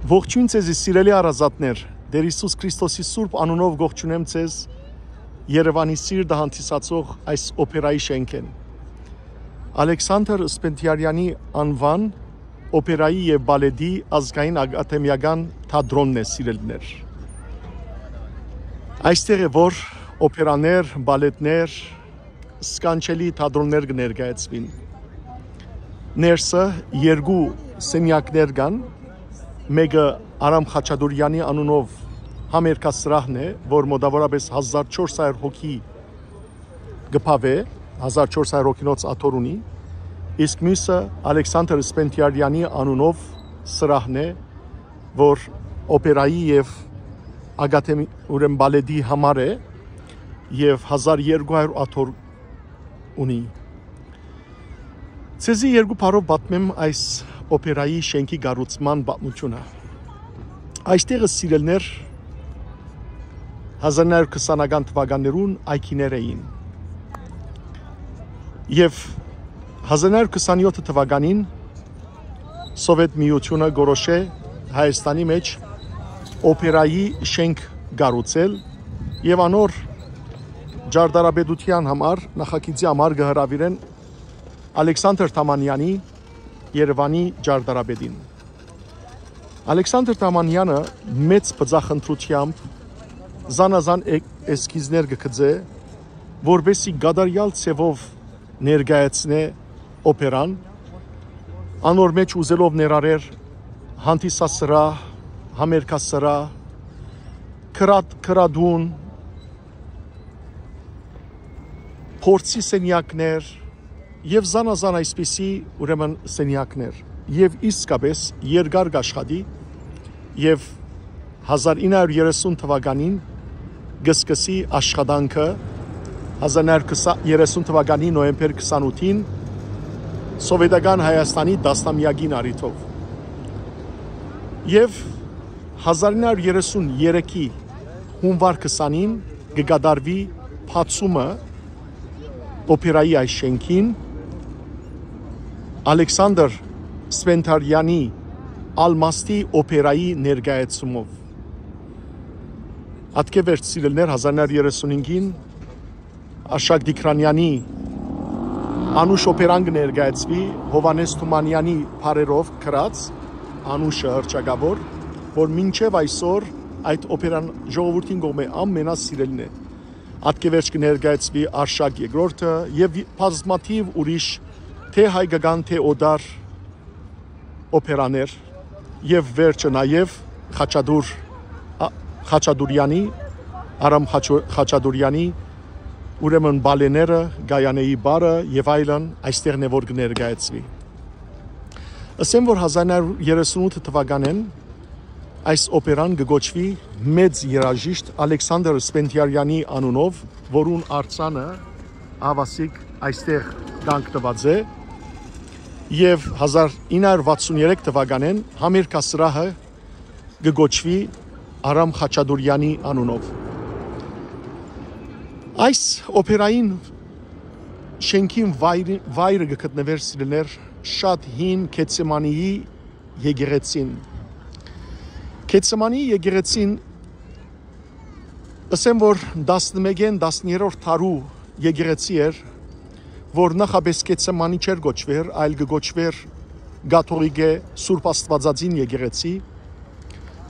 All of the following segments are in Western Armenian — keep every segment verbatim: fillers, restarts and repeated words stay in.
Ողջոյն ձեզի, սիրելի հարազատներ, Տէր Յիսուս Քրիստոսի սուրբ անունով կողջունեմ ձեզ Երեւանի սիրտը հանդիսացող այս օպերայի շենքէն։ Ալեքսանդր Սպենդիարյանի անուան օպերայի եւ բալետի ազգային ակադեմիական թատրոնն է, սիրելիներ։ Այստեղ է, որ օպերաներ, բալետներ, սքանչելի թատրոններ կը ներկայացուին։ Ներսը երկու սենեակներ կան, մէկը Արամ Խաչատուրեանի անունով համերգասրահն է, որ մօտաւորապէս հազար չորս հարյուր հոգի կը բաւէ, հազար չորս հարյուր հոգինոց աթոռ ունի, իսկ միւսը Ալեքսանդր Սպենդիարյանի անունով սրահն է, որ օպերայի եւ ակադեմի-, ուրեմն բալետի համար է եւ հազար երկու հարյուր աթոռ ունի։ Ձեզի երկու բառով պատմեմ այս օպերայի շենքի կառուցման պատմութիւնը։ Այստեղը, սիրելիներ, հազար նոյ հարյուր քսանական թուականներուն այգիներ էին։ Եւ հազար նոյ հարյուր քսանեօթ թուականին Սովետ Միութիւնը կորոշէ Հայաստանի մէջ օպերայի շենք կառուցել եւ անոր ճարտարապետութեան համար, նախագիծի համար կը հրաւիրեն Ալեքսանդր Թամանեանի, Երեւանի ճարտարապետին։ Ալեքսանդր Թամանեանը մեծ բծախնդրութեամբ զանազան է-, էսքիզներ կը գծէ, որպեսզի կատարեալ ձեւով ներկայացնէ օպերան, անոր մէջ ուզելով ներառեր հանդիսասրահ, համերգասրահ, քրատ-, քրատուն, փորձի սենեակներ եւ զանազան այսպիսի, ուրեմն, սենեակներ։ Եւ իսկապէս երկար կաշխատի եւ հազար ինը հարյուր երեսուն թուականին կը սկսի աշխատանքը, հազար ինը հարյուր երեսուն թուականի նոյեմբեր քսանութին Սովետական Հայաստանի տասնամեակին առիթով։ Եւ հազար ինը հարյուր երեսուն երեքի հունուար քսանին կը կատարուի բացումը օպերայի այս շենքին Ալեքսանդր Սվենթարյանի Ալմաստի օպերայի ներկայացումով։ Ատկէ վերջ, սիրելիներ, հազար ինը հարյուր երեսունհինգին Արշակ Տիգրանեանի Անուշ օպերան կը ներկայացուի Յովհաննէս Թումանեանի բառերով գրած Անուշը հռչակաւոր, որ մինչեւ այսօր այդ օպերան ժողովուրդին կողմէ ամենասիրելին է։ Ատկէ վերջ կը ներկայացուի Արշակ երկրորդը եւ բազմաթիւ ուրիշ, թէ հայկական, թէ օտար օպերաներ եւ վերջը նաեւ Խաչատուր, ա, Խաչատուրեանի, Արամ Խաչո-, Խաչատուրեանի, ուրեմն բալեները, Գայանեի բառը եւ այլն այստեղն է, որ կը ներկայացուի։ Ըսեմ, որ հազար ինը հարյուր երեսունութ թուականէն այս օպերան կը կոչուի Մեծ երաժիշտ Ալեքսանդր Սպենդիարյանի անունով, որուն արձանը ավասիկ այստեղ կանգնուած է, եւ հազար ինը հարյուր վաթսուն երեք թուականէն համերգասրահը կը կոչուի Արամ Խաչատուրեանի անունով։ Այս օպերային շենքին վայրի-, վայրը կը գտնուէր, սիրելիներ, շատ հին Գեթսեմանիի եկեղեցին։ Գեթսեմանիի եկեղեցին, ըսեմ, որ տասնմէկէն տասներորդ դարու եկեղեցի էր, որ նախապէս Գեթսեմանի չէր կոչուեր, այլ կը կոչուեր կաթողիկէ Սուրբ Աստուածածին եկեղեցի։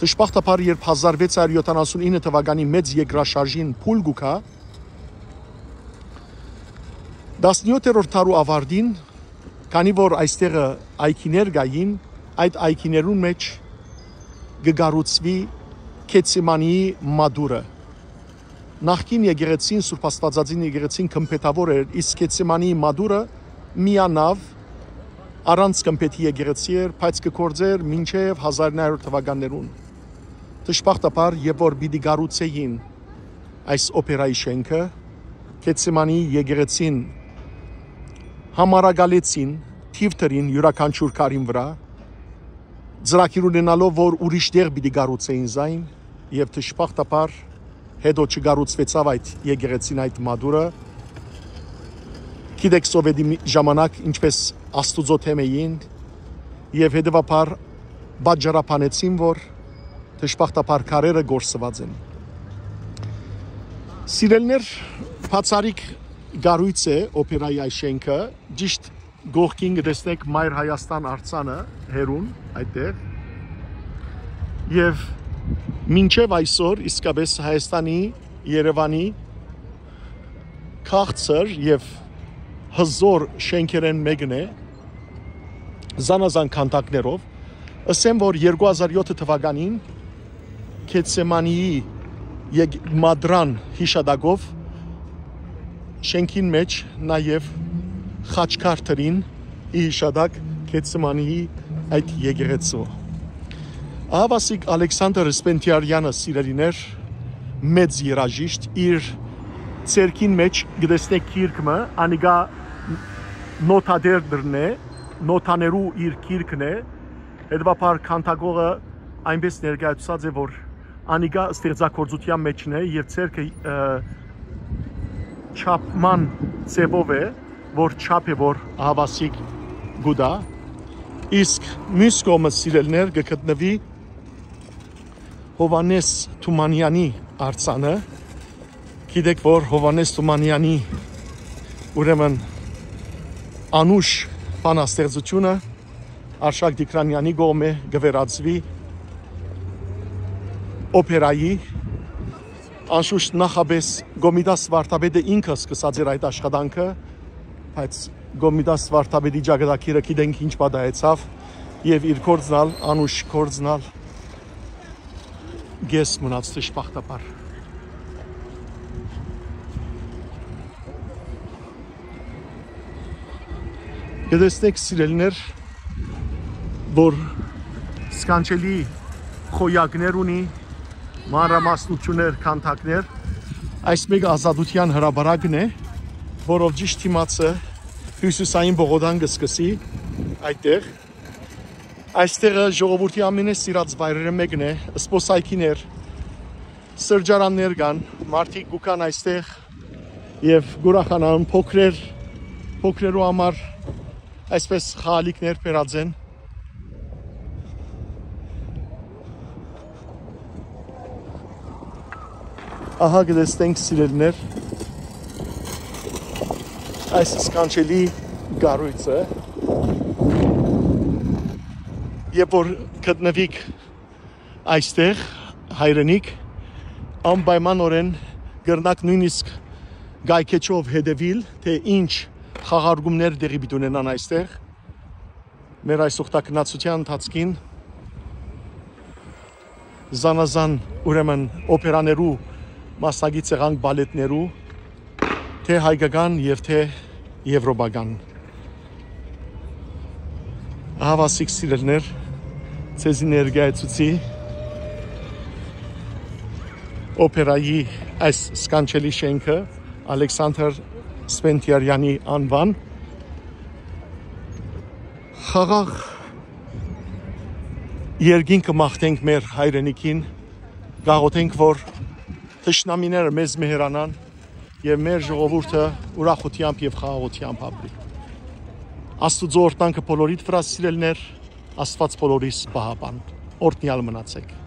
Դժբախտաբար, երբ հազար վեց հարյուր յոթանասուն ինը թուականի մեծ երկրաշարժին փուլ կու գայ, տասնեութերորդ դարու ավարտին, քանի որ այստեղը այգիներ կային, այդ այգիներուն մէջ կը կառուցուի Գեթսեմանիի մատուռը։ Նախկին եկեղեցին, Սուրբ Աստուածածին եկեղեցին գմբեթաւոր էր, իսկ Գեթսեմանիի մատուռը միանաւ, առանց գմբեթի եկեղեցի էր, բայց կը գործէր մինչեւ հազար ինը հարյուր թուականներուն։ Դժբախտաբար, երբ որ պիտի կառուցէին այս օպերայի շենքը, Գեթսեմանիի եկեղեցին համարակալեցին, թիւ դրին իւրաքանչիւր քարին վրայ, ծրագիր ունենալով, որ ուրիշ տեղ պիտի կառուցէին զայն, եւ դժբախտաբար հետո չկառուցուեցաւ այդ եկեղեցին, այդ մատուռը։ Գիտեք, Սովետի մի-, ժամանակ ինչպես Աստուծոյ դէմ էին, եւ հետեւաբար պատճառաբանեցին, որ դժբախտաբար քարերը կորսուած են։ Սիրելիներ, բացառիկ կառոյց է օպերայի այս շենքը, ճիշդ կողքին կը տեսնեք Մայր Հայաստան արձանը հեռուն այդտեղ։ Եւ մինչեւ այսօր իսկապես Հայաստանի, Երեւանի քաղցր եւ հզոր շենքերէն մէկն է, զանազան քանդակներով։ Ըսեմ, որ երկու հազար յոթ թվականին Գեթսեմանիի եկ-, մատրան յիշատակով շենքին մէջ նաեւ խաչքար դրին, ի յիշատակ Գեթսեմանիի այդ եկեղեցու։ Ահավասիկ Ալեքսանդր Սպենդիարյանը, սիրելիներ, մեծ երաժիշտ, իր ձեռքին մէջ կը տեսնէք գիրք մը, անիկա նոթատեր դրն է, նոթաներու իր գիրքն է, հետեւաբար քանդակողը այնպես ներկայացուցած է, որ անիկա ստեղծագործութեան մէջն է եւ ձեռքը, ը, չափման ձեւով է, որ չափ է, որ ահավասիկ կու տայ։ Իսկ միւս կողմը, սիրելիներ, կը գտնուի Հովհաննէս Թումանեանի արձանը։ Գիտեք, որ Հովհաննէս Թումանեանի, ուրեմն, անուշ բանաստեղծութիւնը Արշակ Տիգրանեանի կողմէ կը վերածուի օպերայի։ Անշուշտ, նախապէս Կոմիտաս վարդապետը ինքը սկսած էր այդ աշխատանքը, բայց Կոմիտաս վարդապետի ճակատագիրը գիտենք ինչ պատահեցաւ, եւ իր կորձն ալ, անուշ կորձն ալ, կես մնաց, դժբախտաբար։ Կը տեսնեք, սիրելիներ, որ սքանչելի խոյակներ ունի, մանրամասնություններ, քանդակներ։ Այս մէկը Ազատութեան հրապարակն է, որով ճիշդ դիմացը հիւսիսային պողոտան կը սկսի այդտեղ։ Այստեղը ժողովուրդի ամենէ սիրած վայրերը մէկն է, սպոսայքիներ, սրճարաններ կան, մարդիկ կու գան այստեղ եւ կ'ուրախանան, փոքրեր, փոքրերու համար այսպես խաղալիքներ բերած են։ Ահա կը տեսնենք, սիրելիներ, այս սքանչելի կառոյցը, երբ որ գտնուիք այստեղ, հայրենիք, անպայմանօրէն կրնաք նոյնիսկ կայքէջով հետեւիլ, թէ ինչ խաղարկումներ տեղի պիտի ունենան այստեղ։ Մեր այս ուխտագնացութեան ընթացքին զանազան, ուրեմն, օպերաներու մասնակից եղանք, բալետներու, թէ հայկական եւ թէ եվրոպական։ Ահավասիկ, սիրելիներ, ձեզի ներկայացուցի օպերայի այս սքանչելի շենքը, Ալեքսանդր Սպենդիարյանի անուան։ Խաղաղ երկինքը մաղթենք մեր հայրենիքին, կաղոթենք, որ թշնամիները մեզ մեհերանան եւ մեր ժողովուրդը ուրախութեամբ եւ խաղաղութեամբ ապրի։ Աստուծոյ օրհնանքը բոլորիդ վրայ, սիրելիներ, Աստուած բոլորիս պահապան։ Օրհնեալ մնացէք։